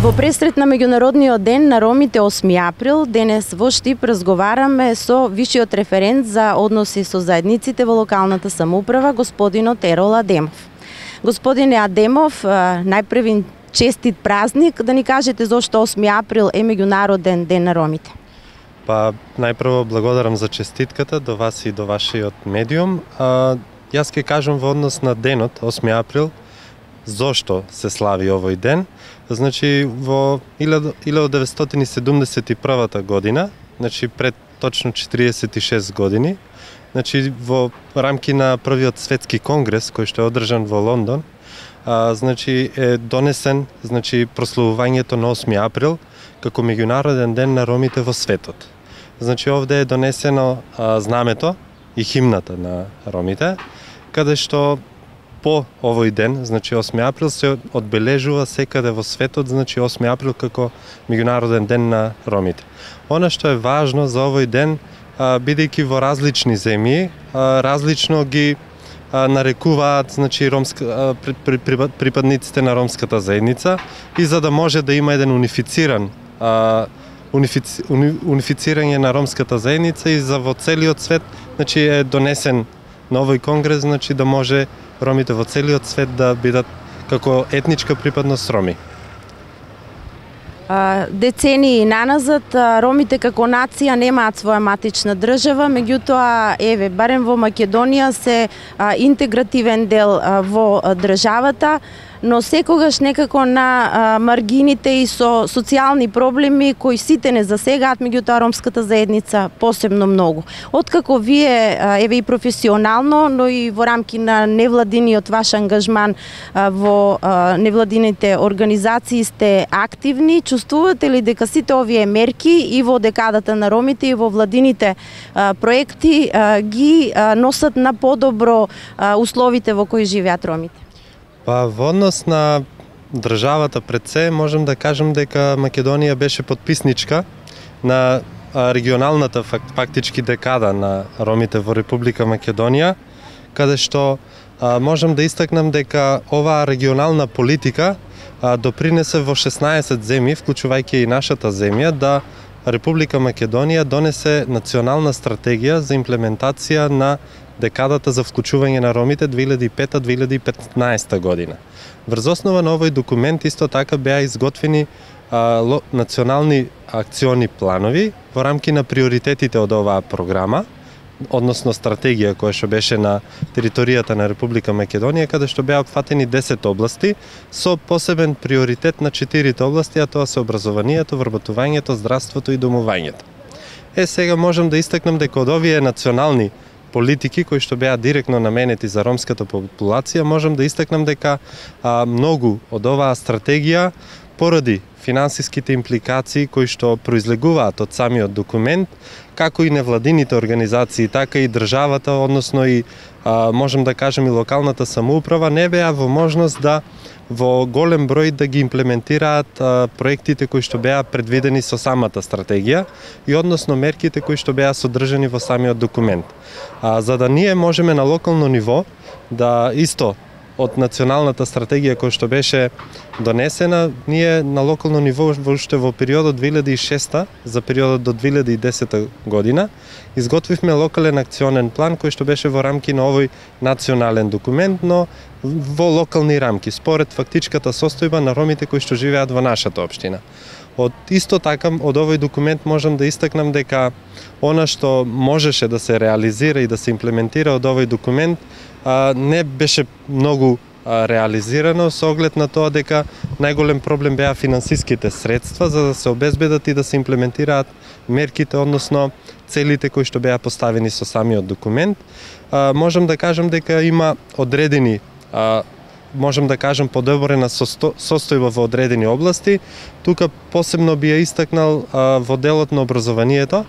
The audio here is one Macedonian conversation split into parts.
Во пресрет на меѓународниот ден на ромите 8 април, денес во Штип разговараме со вишиот референт за односи со заедниците во локалната самоуправа, господинот Ерол Адемов. Господине Адемов, најпрви честит празник, да ни кажете зошто 8 април е меѓународен ден на ромите. Па, најпрво благодарам за честитката до вас и до вашиот медиум. Јас ќе кажам во однос на денот, 8 април, зошто се слави овој ден. Значи, во 1971 година, значи пред точно 46 години, значи во рамки на првиот светски конгрес кој што е одржан во Лондон, значи е донесен, значи прославувањето на 8 април како меѓународен ден на ромите во светот. Значи овде е донесено знамето и химната на ромите, каде што по овој ден, значи 8 април, се одбележува секаде во светот, значи 8 април како меѓународен ден на ромите. Она што е важно за овој ден, бидејќи во различни земји, различно ги нарекуваат, значи припадниците на ромската заедница, и за да може да има еден унифицирање на ромската заедница и за во целиот свет, значи е донесен на овој конгрес, значи да може ромите во целиот свет да бидат како етничка припадност роми. Децении наназад ромите како нација немаат своја матична држава, меѓутоа еве барем во Македонија се интегративен дел во државата, но секогаш некако на маргините и со социјални проблеми кои сите не засегаат, меѓутоа ромската заедница посебно многу. Откако вие еве и професионално, но и во рамки на невладиниот ваш ангажман во невладините организации сте активни, чувствувате ли дека сите овие мерки и во декадата на ромите и во владините проекти ги носат на подобро условите во кои живеат ромите? Па, во однос на државата пред се, можем да кажем дека Македонија беше подписничка на регионалната фактички декада на ромите во Република Македонија, каде што можем да истакнам дека оваа регионална политика допринесе во 16 земји, вклучувајќи и нашата земја, да Република Македонија донесе национална стратегија за имплементација на декадата за вклучување на ромите 2005-2015 година. Врз основа на овој документ исто така беа изготвени национални акциони планови во рамки на приоритетите од оваа програма, односно стратегија која што беше на територијата на Република Македонија, каде што беа опфатени 10 области со посебен приоритет на 4 области, а тоа се образованието, вработувањето, здравството и домувањето. Сега можам да истакнам дека од овие национални политики кои што беа директно наменети за ромската популација, можам да истакнам дека многу од оваа стратегија поради финансиските импликации кои што произлегуваат од самиот документ, како и невладините организации, така и државата, односно и можем да кажем и локалната самоуправа, не беа во можност да во голем број да ги имплементираат проектите кои што беа предвидени со самата стратегија и односно мерките кои што беа содржани во самиот документ. За да ние можеме на локално ниво да исто од националната стратегија која што беше донесена, ние на локално ниво уште во периодот 2006 за периодот до 2010 година изготвивме локален акционен план кој што беше во рамки на овој национален документ, но во локални рамки, според фактичката состојба на ромите кои што живеат во нашата општина. Исто така, од овој документ можам да истакнам дека она што можеше да се реализира и да се имплементира од овој документ не беше многу реализирано со оглед на тоа дека најголем проблем беа финансиските средства за да се обезбедат и да се имплементираат мерките, односно целите кои што беа поставени со самиот документ. Можам да кажам дека има одредени можем да кажем подобрена состојба во одредени области. Тука посебно би ја истакнал во делот на образованието,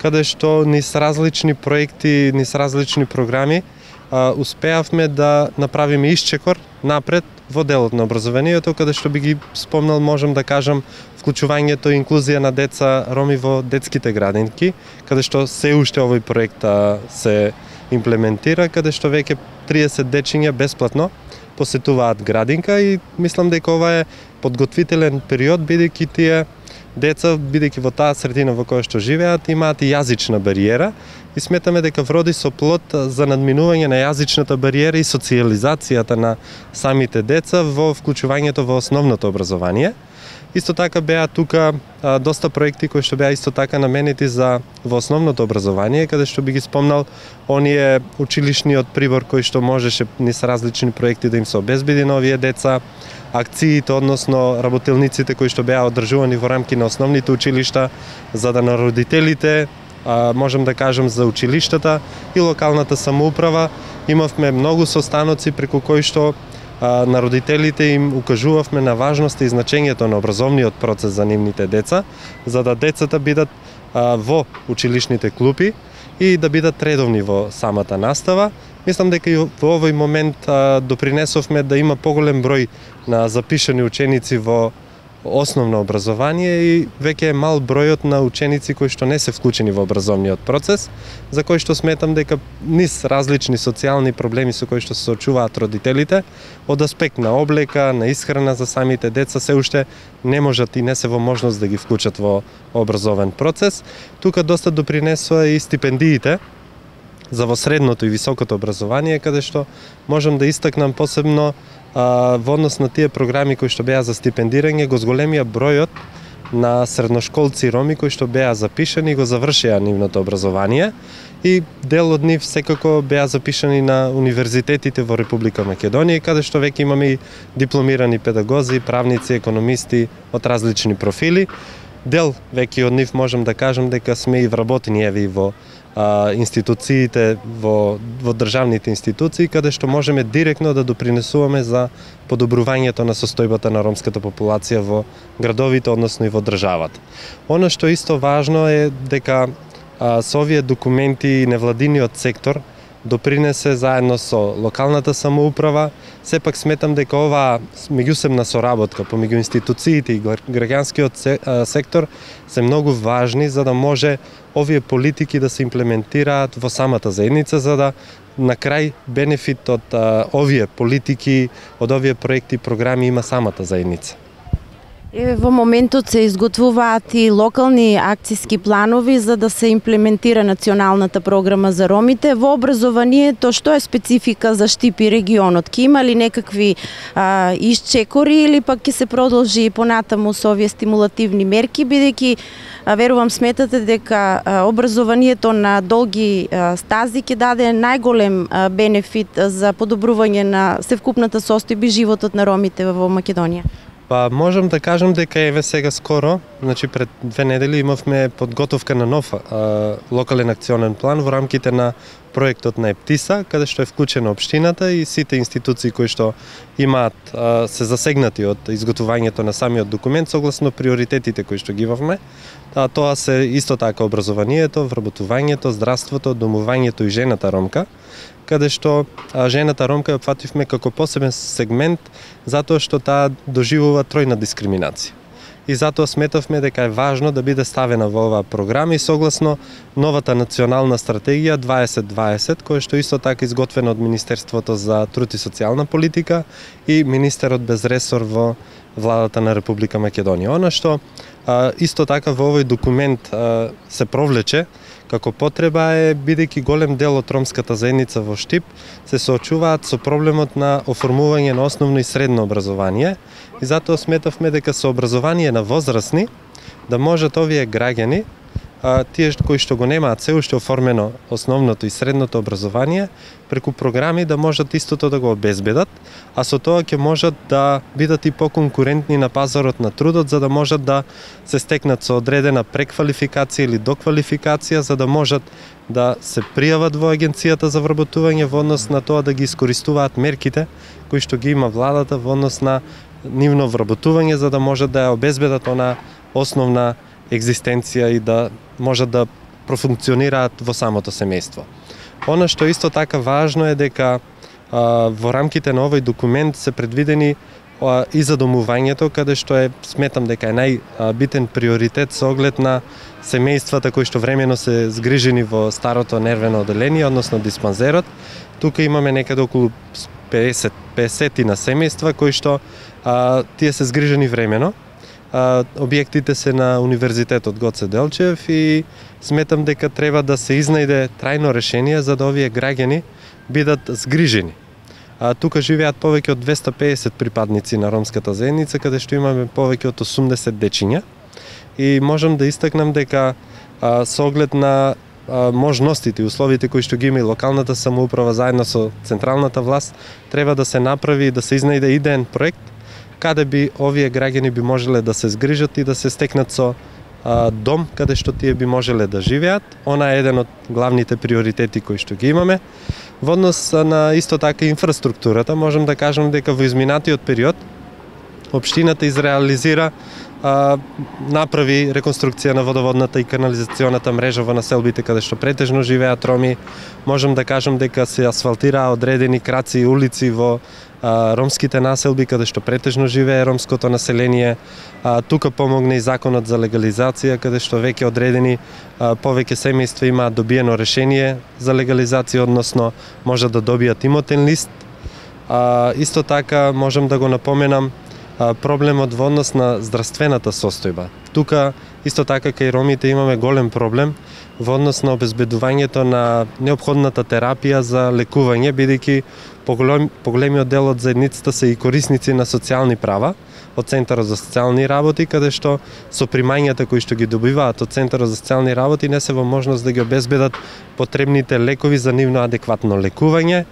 каде што низ различни проекти, низ различни програми успеавме да направиме исчекор напред во делот на образованието, каде што би ги спомнал, можем да кажам, вклучувањето и инклузија на деца роми во детските градинки, каде што се уште овој проект се имплементира, каде што веќе 30 дечиња бесплатно посетуваат градинка и мислам дека ова е подготвителен период, бидејќи тие деца, бидејќи во таа средина во која што живеат, имаат и јазична бариера и сметаме дека вроди со плод за надминување на јазичната бариера и социјализацијата на самите деца во вклучувањето во основното образование. Исто така беа тука доста проекти кои што беа исто така наменети за во основното образование, каде што би ги спомнал оние училишниот прибор кој што можеше низ различни проекти да им се обезбеди на овие деца, акциите, односно работилниците кои што беа одржувани во рамки на основните училишта, за да на родителите, можем да кажем за училиштата и локалната самоуправа, имавме многу состаноци преку кои што на родителите им укажувавме на важноста и значењето на образовниот процес за нивните деца, за да децата бидат во училишните клупи и да бидат редовни во самата настава. Мислам дека и во овој момент допринесовме да има поголем број на запишани ученици во основно образование и веќе е мал бројот на ученици кои што не се вклучени во образовниот процес, за кој што сметам дека низ различни социјални проблеми со кои што се соочуваат родителите, од аспект на облека, на исхрана за самите деца, се уште не можат и не се во можност да ги вклучат во образовен процес. Тука доста допринесува и стипендиите за во средното и високото образование, каде што можам да истакнам посебно во однос на тие програми кои што беа за стипендирање, го зголемија бројот на средношколци роми кои што беа запишани и го завршија нивното образование и дел од нив секако беа запишани на универзитетите во Република Македонија, каде што веќе имаме и дипломирани педагози, правници, економисти од различни профили. Дел веќе од нив можам да кажам дека сме и вработени еви во институциите, во државните институции, каде што можеме директно да допринесуваме за подобрувањето на состојбата на ромската популација во градовите, односно и во државата. Она што исто важно е дека со овие документи и невладиниот сектор допринесе заедно со локалната самоуправа. Сепак сметам дека оваа меѓусебна соработка помеѓу институциите и граѓанскиот сектор се многу важни за да може овие политики да се имплементираат во самата заедница, за да на крај бенефит од овие политики, од овие проекти и програми има самата заедница. Во моментот се изготвуваат и локални акциски планови за да се имплементира националната програма за ромите. Во образованието, што е специфика за Штип и регионот? Ке има ли некакви исчекори или пак ќе се продолжи понатаму со овие стимулативни мерки, бидејќи верувам сметате дека образованието на долги стази ќе даде најголем бенефит за подобрување на севкупната состојба и животот на ромите во Македонија? Па можам да кажам дека еве сега скоро, значи пред 2 недели имавме подготовка на нов локален акционен план во рамките на проектот на ЕПТИСА, каде што е вклучена општината и сите институции кои што имаат се засегнати од изготвувањето на самиот документ согласно приоритетите кои што ги имавме. Тоа се исто така образованието, вработувањето, здравството, домувањето и жената ромка, каде што жената ромка ја опфативме како посебен сегмент затоа што таа доживува тројна дискриминација. И затоа сметавме дека е важно да биде ставена во оваа програма и согласно новата национална стратегија 2020, која што исто така изготвена од Министерството за труд и социјална политика и министерот без ресор во владата на Република Македонија. Она што исто така во овој документ се провлече како потреба е, бидејќи голем дел од ромската заедница во Штип се соочуваат со проблемот на оформување на основно и средно образование и затоа сметавме дека со образование на возрастни да можат овие граѓани, тие кои што го немаат се уште оформено основното и средното образование, преку програми да можат истото да го обезбедат, а со тоа ќе можат да бидат и поконкурентни на пазарот на трудот, за да можат да се стекнат со одредена преквалификација или доквалификација, за да можат да се пријават во агенцијата за вработување во однос на тоа да ги искористуваат мерките кои што ги има владата во однос на нивно вработување, за да можат да ја обезбедат она основна екзистенција и да можат да профункционираат во самото семејство. Она што исто така важно е дека во рамките на овој документ се предвидени и за домувањето, каде што е, сметам дека е најбитен приоритет со оглед на семејствата кои што времено се згрижени во старото нервено оделение, односно диспанзерот. Тука имаме некаде околу 50 на семејства кои што тие се згрижени времено. Објектите се на Универзитетот Гоце Делчев и сметам дека треба да се изнајде трајно решение за да овие граѓани бидат згрижени. Тука живеат повеќе од 250 припадници на ромската заедница, каде што имаме повеќе од 80 дечиња. И можам да истакнам дека со оглед на можностите и условите кои што ги има и локалната самоуправа заедно со централната власт, треба да се направи и да се изнајде идеен проект каде би овие граѓани би можеле да се згрижат и да се стекнат со дом каде што тие би можеле да живеат. Она е еден од главните приоритети кои што ги имаме. Во однос на исто така инфраструктурата, можам да кажам дека во изминатиот период општината изреализира направи реконструкција на водоводната и канализационата мрежа во населбите каде што претежно живеат роми. Можам да кажам дека се асфалтираа одредени краци и улици во ромските населби каде што претежно живее ромското население. Тука помогна и законот за легализација каде што веќе одредени повеќе семејства имаат добиено решение за легализација, односно може да добијат имотен лист. Исто така можам да го напоменам проблемот во однос на здравствената состојба. Тука исто така кај ромите имаме голем проблем во однос на обезбедувањето на неопходната терапија за лекување, бидејќи поголемиот дел од заедницата се и корисници на социјални права од Центарот за социјални работи, каде што со примањата кои што ги добиваат од Центарот за социјални работи не се во можност да ги обезбедат потребните лекови за нивно адекватно лекување.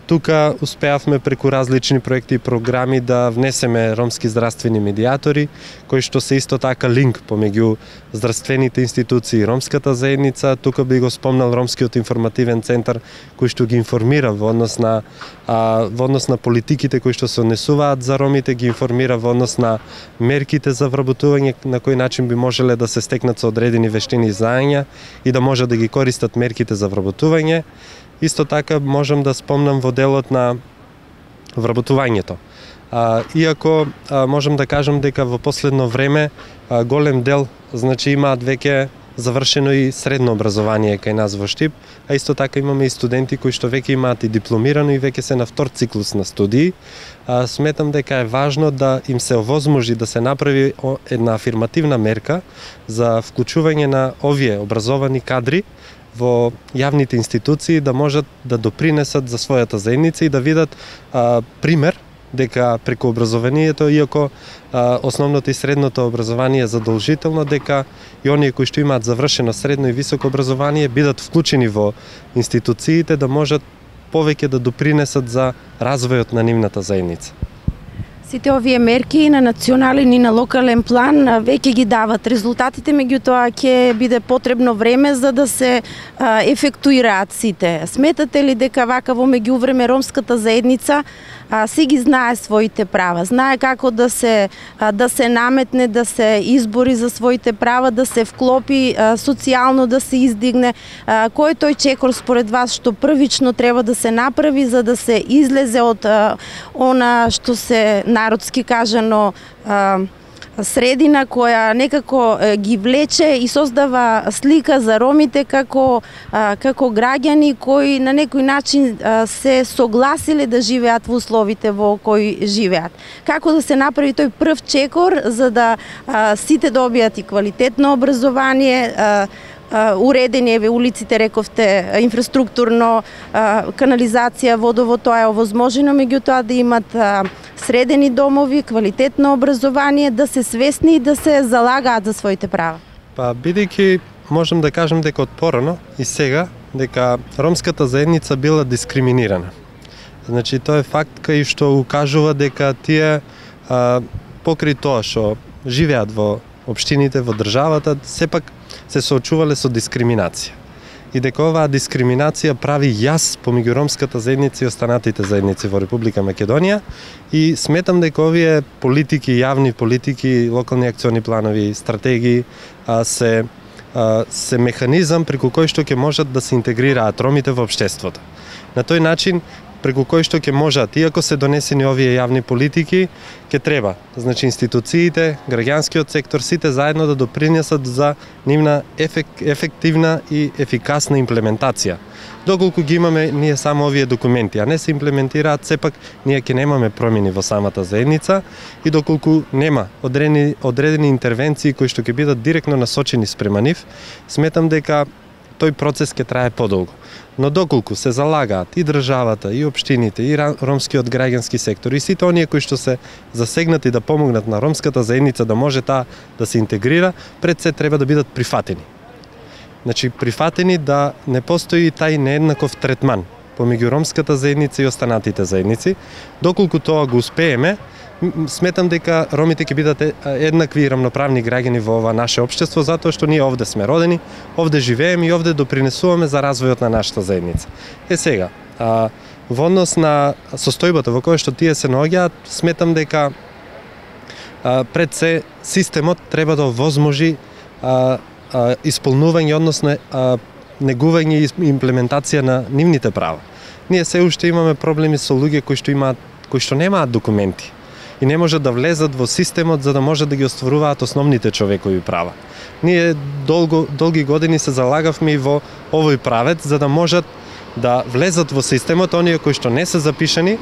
Тука успеавме преку различни проекти и програми да внесеме ромски здравствени медијатори, кои што се исто така линк помеѓу здравствените институции и ромската заедница. Тука би го спомнал Ромскиот информативен центар кој што ги информира во однос на политиките кои што се однесуваат за ромите, ги информира во однос на мерките за вработување, на кој начин би можеле да се стекнат со одредени вештини и знаења и да може да ги користат мерките за вработување. Исто така можам да спомнам во делот на вработувањето. Иако можам да кажам дека во последно време голем дел имаат веќе завршено и средно образование кај нас во Штип, а исто така имаме и студенти кои што веќе имаат и дипломирано и веќе се на втор циклус на студии. Сметам дека е важно да им се овозможи да се направи една афирмативна мерка за вклучување на овие образовани кадри во јавните институции, да можат да допринесат за својата заедница и да видат пример дека преку образованието, иако основното и средното образование е задолжително, дека и оние кои што имаат завршено средно и високо образование бидат вклучени во институциите, да можат повеќе да допринесат за развојот на нивната заедница. Сите овие мерки на национален и на локален план веќе ги дават резултатите, меѓутоа ќе биде потребно време за да се ефектуираат сите. Сметате ли дека вака во меѓувреме ромската заедница си ги знае своите права, знае како да се наметне, да се избори за своите права, да се вклопи социјално, да се издигне? Кој е тој чекор според вас што првично треба да се направи за да се излезе од она што се народски кажано средина која некако ги влече и создава слика за ромите како граѓани кои на некој начин се согласиле да живеат во условите во кои живеат? Како да се направи тој прв чекор за да сите добијат и квалитетно образование, уредени улиците, рековте, инфраструктурно, канализација, водовод, тоа е овозможено, меѓутоа да имат средени домови, квалитетно образование, да се свесни и да се залагаат за своите права? Бидејќи можам да кажам дека од порано и сега дека ромската заедница била дискриминирана. Тоа е факт кај што укажува дека тие покрај тоа што живеат во општините, во државата, сепак се соочувале со дискриминација. И дека оваа дискриминација прави јас помеѓу ромската заедница и останатите заедници во Република Македонија, и сметам дека овие политики, јавни политики, локални акциони планови, стратегии се механизам преку кој што ќе можат да се интегрираат ромите во општеството. На тој начин преку кои што ќе можат, иако се донесени овие јавни политики, ќе треба, значи институциите, граѓанскиот сектор, сите заедно да допринесат за нивна ефективна и ефикасна имплементација. Доколку ги имаме ние само овие документи, а не се имплементираат, сепак ние ќе немаме промени во самата заедница и доколку нема одредени интервенции кои што ќе бидат директно насочени спрема нив, сметам дека тој процес ќе трае подолго. Но доколку се залагаат и државата, и општините, и ромскиот граѓански сектор, и сите оние кои што се засегнати да помогнат на ромската заедница да може таа да се интегрира, пред се треба да бидат прифатени. Значи, прифатени да не постои тај нееднаков третман помеѓу ромската заедница и останатите заедници. Доколку тоа го успееме, сметам дека ромите ќе бидат еднакви и рамноправни граѓани во ова наше општество, затоа што ние овде сме родени, овде живееме и овде допринесуваме за развојот на нашата заедница. Сега, во однос на состојбата во која што тие се наоѓаат, сметам дека пред се системот треба да овозможи исполнување, односно негување и имплементација на нивните права. Ние се уште имаме проблеми со луѓе кои што немаат документи и не можат да влезат во системот за да можат да ги остваруваат основните човекови права. Ние долги години се залагавме и во овој правец за да можат да влезат во системот оние кои што не се запишани,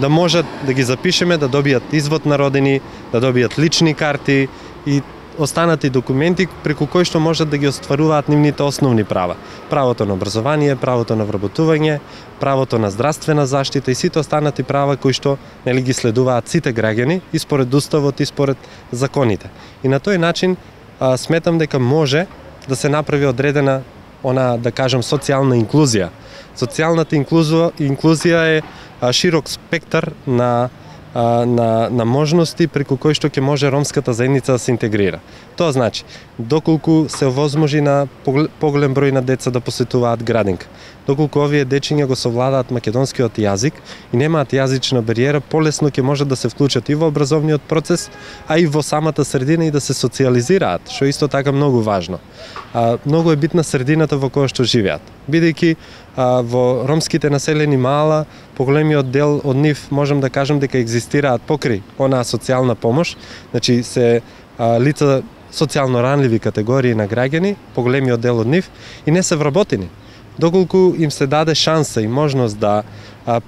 да можат да ги запишеме, да добијат извод на родени, да добијат лични карти и останати документи преку кои што можат да ги остваруваат нивните основни права. Правото на образование, правото на вработување, правото на здравствена заштита и сите останати права кои што ги следуваат сите граѓани и според уставот и според законите. И на тој начин сметам дека може да се направи одредена да кажам социјална инклузија. Социјалната инклузија е широк спектар на можности преку кои што ќе може ромската заедница да се интегрира. Тоа значи, доколку се овозможи на поголем број на деца да посетуваат градинка, доколку овие дечиња го совладаат македонскиот јазик и немаат јазична бариера, полесно ќе можат да се вклучат и во образовниот процес, а и во самата средина и да се социјализираат, што е исто така многу важно. Многу е битна средината во која што живеат, бидејќи во ромските населени мала, поголемиот дел од нив можам да кажам дека екзистираат покрај онаа социјална помош, значи се лица социјално ранливи категории на граѓани, поголемиот дел од нив и не се вработени. Доколку им се даде шанса и можност да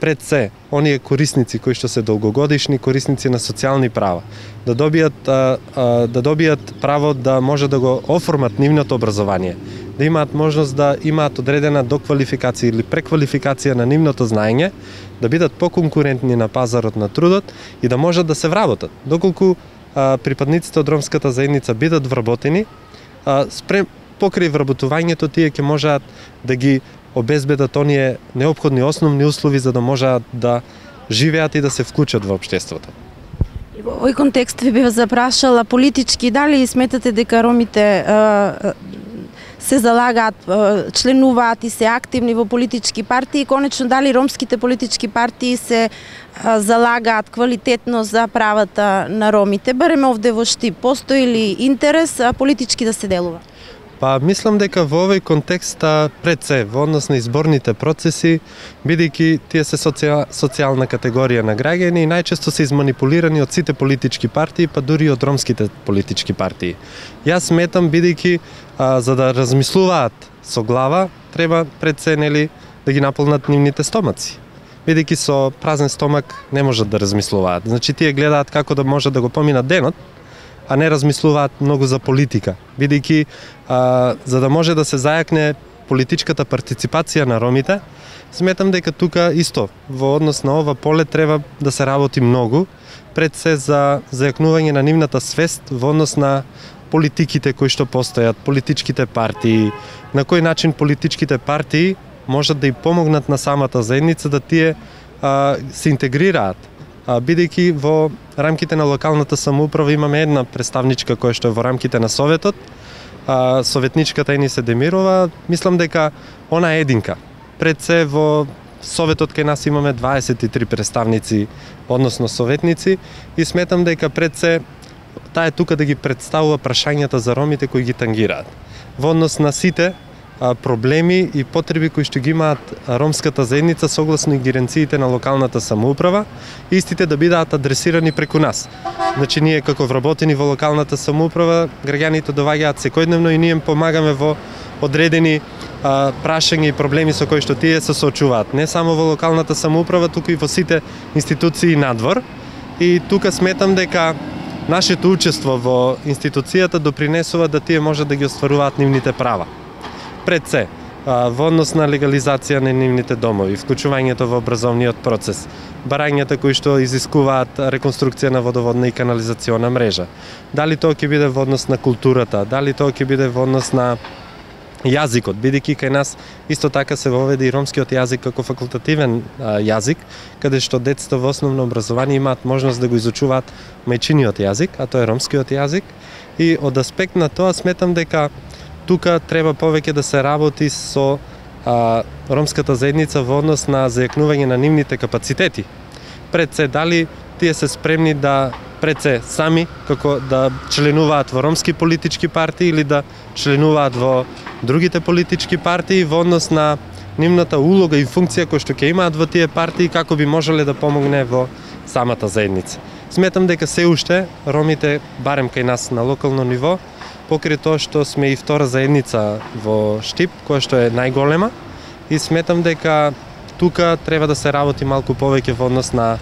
пред се оние корисници кои што се долгогодишни корисници на социјални права, да добијат право да може да го оформат нивното образование, да имаат можност да имаат одредена доквалификација или преквалификација на нивното знаење, да бидат поконкурентни на пазарот на трудот и да можат да се вработат. Доколку припадниците од ромската заедница бидат вработени, покрај вработувањето тие ќе можат да ги обезбедат оние неопходни основни услови за да можат да живеат и да се вклучат во општеството. Во овој контекст ви бев запрашала политички, дали сметате дека ромите се залагаат, членуваат и се активни во политички партии, конечно дали ромските политички партии се залагаат квалитетно за правата на ромите, барем овде во Штип, постои ли интерес политички да се делува? Мислам дека во овој контекст пред се, во однос на изборните процеси, бидејќи тие се социјална категорија на граѓани и најчесто се изманипулирани од сите политички партии, па дури од ромските политички партии. Јас сметам, бидејќи за да размислуваат со глава, треба пред се да ги наполнат нивните стомаци. Бидејќи со празен стомак не можат да размислуваат. Значи тие гледаат како да можат да го поминат денот, а не размислуваат многу за политика. Бидејќи за да може да се зајакне политичката партиципација на ромите, сметам дека тука исто во однос на ова поле треба да се работи многу, пред се за зајакнување на нивната свест во однос на политиките кои што постојат, политичките партии, на кој начин политичките партии можат да и помогнат на самата заедница да тие се интегрираат. Бидејќи во рамките на локалната самоуправа имаме една представничка која што е во рамките на Советот, советничката Енисе Демирова, мислам дека она е единка. Пред се во Советот кај нас имаме 23 представници, односно советници, и сметам дека пред се таа е тука да ги представува прашањата за ромите кои ги тангираат. Во однос на сите проблеми и потреби кои што ги имаат ромската заедница согласно ингеренциите на локалната самоуправа, истите да бидат адресирани преку нас. Значи ние како вработени во локалната самоуправа, граѓаните доваѓаат секојдневно и ние им помагаме во одредени прашања и проблеми со кои што тие се соочуваат. Не само во локалната самоуправа, туку и во сите институции надвор. И тука сметам дека нашето учество во институцијата допринесува да тие можат да ги остваруваат нивните права. Пред се, во однос на легализација на нивните домови, вклучувањето во образовниот процес, барањата кои што изискуваат реконструкција на водоводна и канализациона мрежа. Дали тоа ќе биде во однос на културата, дали тоа ќе биде во однос на јазикот, бидејќи кај нас исто така се воведе и ромскиот јазик како факултативен јазик, каде што децата во основно образование имаат можност да го изучуваат мајчиниот јазик, а тоа е ромскиот јазик. И од аспект на тоа сметам дека тука треба повеќе да се работи со ромската заедница во однос на зајакнување на нивните капацитети. Пред се, дали тие се спремни да пред се сами како да членуваат во ромски политички партии или да членуваат во другите политички партии во однос на нивната улога и функција која што ќе имаат во тие партии, како би можеле да помогне во самата заедница. Сметам дека се уште ромите, барем кај нас на локално ниво, покрај тоа што сме и втора заедница во Штип, која што е најголема, и сметам дека тука треба да се работи малку повеќе во однос на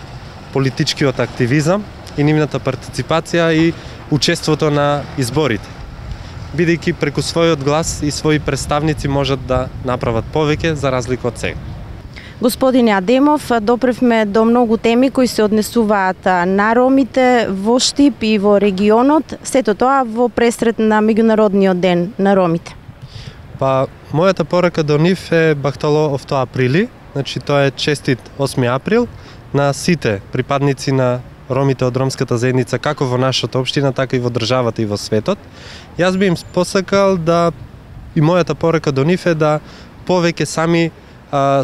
политичкиот активизам и нивната партиципација и учеството на изборите. Бидејќи преку својот глас и своји представници можат да направат повеќе за разлика од сега. Господине Адемов, допревме до многу теми кои се однесуваат на ромите во Штип и во регионот, сето тоа во пресрет на Меѓународниот ден на ромите. Па, мојата порака до нив е бахтало овто априли, значи тоа е честит 8 април на сите припадници на ромите од ромската заедница, како во нашата општина, така и во државата и во светот. Јас би им посакал да, и мојата порака до нив е да повеќе сами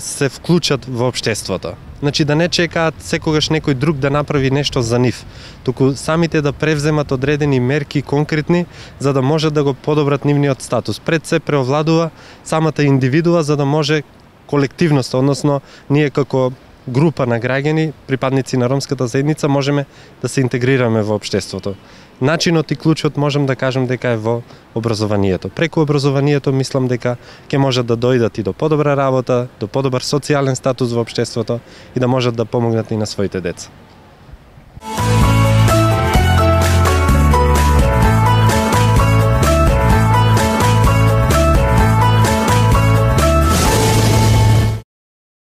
се вклучат во општеството. Значи да не чекаат секогаш некој друг да направи нешто за нив, туку самите да превземат одредени мерки конкретни за да можат да го подобрат нивниот статус. Пред се преовладува самата индивидуа за да може колективност, односно ние како група на граѓани, припадници на ромската заедница, можеме да се интегрираме во општеството. Начинот и клучот можем да кажем дека е во образованието. Преку образованието мислам дека ќе можат да дојдат и до подобра работа, до подобар социјален статус во општеството и да можат да помогнат и на своите деца.